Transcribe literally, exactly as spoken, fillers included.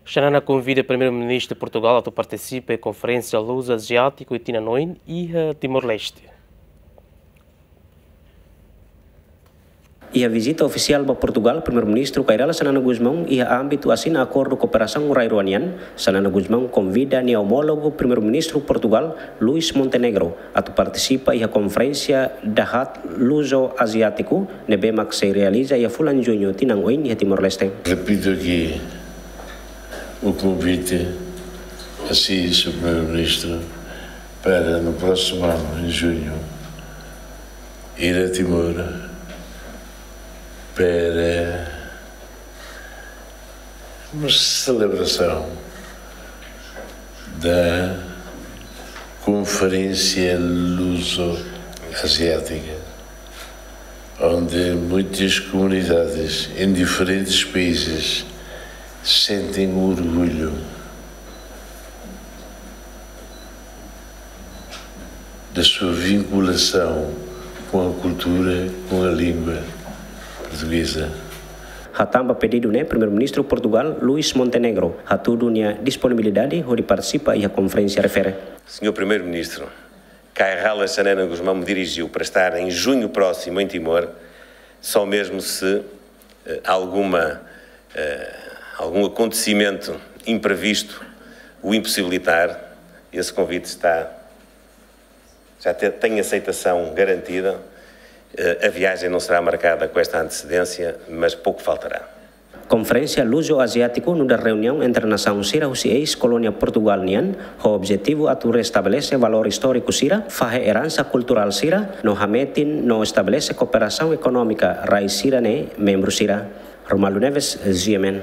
Xanana konvida Primeiru-Ministru Portugal atu partisipa iha Konferénsia Luso-Aziátiku iha tinan oin iha Timor-Leste. Iha vizita ofisiál ba Portugal, Primeiru-Ministru Kay Rala Xanana Gusmão iha ámbitu asina akordu kooperasaun rai rua nian, Xanana Gusmão konvida nia omólogu Primeiru-Ministru Portugal, Luís Montenegro, atu partisipa iha Konferénsia Dahat Luso-Aziátiku ne'ebé mak sei realiza iha fulan Juñu tinan oin iha Timor-Leste. Repito aqui o convite a si, senhor Primeiro-Ministro, para no próximo ano, em junho, ir a Timor para uma celebração da Conferência Luso-Asiática, onde muitas comunidades em diferentes países sentem orgulho da sua vinculação com a cultura, com a língua portuguesa. Hatán ba pedidu ne'e, Primeiru-Ministru Portugal, Luís Montenegro, hatudu nia disponibilidade hodi partisipa iha konferénsia refere. Senhor Primeiro-Ministro, Kay Rala Xanana Gusmão me dirigiu para estar em junho próximo em Timor, só mesmo se eh, alguma, eh, algum acontecimento imprevisto o impossibilitar, esse convite está, já te- tem aceitação garantida. Eh, a viagem não será marcada com esta antecedência, mas pouco faltará. Konferénsia Luso-Aziátiku nu'udar reuniaun entre nasaun sira husi eis-kolónia Portugal nian, ho objetivu atu restabelese valór istóriku sira, fahe eransa kulturál sira, no hametin no estabelese kooperasaun ekonómika rai sira-ne'e membru sira. Romualdo Neves, G M N.